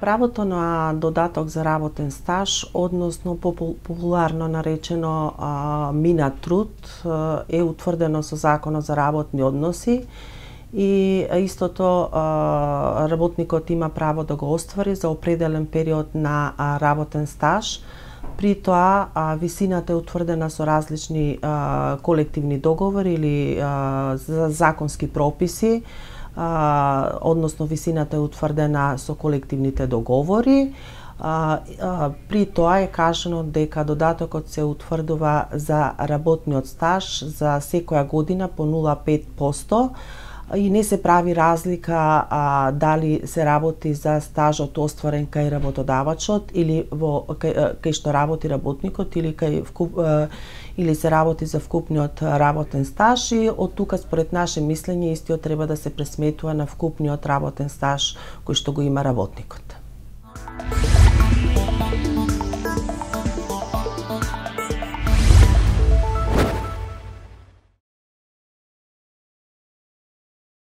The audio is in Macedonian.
Правото на додаток за работен стаж, односно популарно наречено минат труд, е утврдено со Законот за работни односи и истото работникот има право да го оствари за определен период на работен стаж. При тоа висината е утврдена со различни колективни договори или законски прописи, односно висината е утврдена со колективните договори. При тоа е кажано дека додатокот се утврдува за работниот стаж за секоја година по 0,5% и не се прави разлика дали се работи за стажот остварен кај работодавачот или кај што работи работникот или се работи за вкупниот работен стаж, и од тука според наше мислење истиот треба да се пресметува на вкупниот работен стаж кој што го има работникот.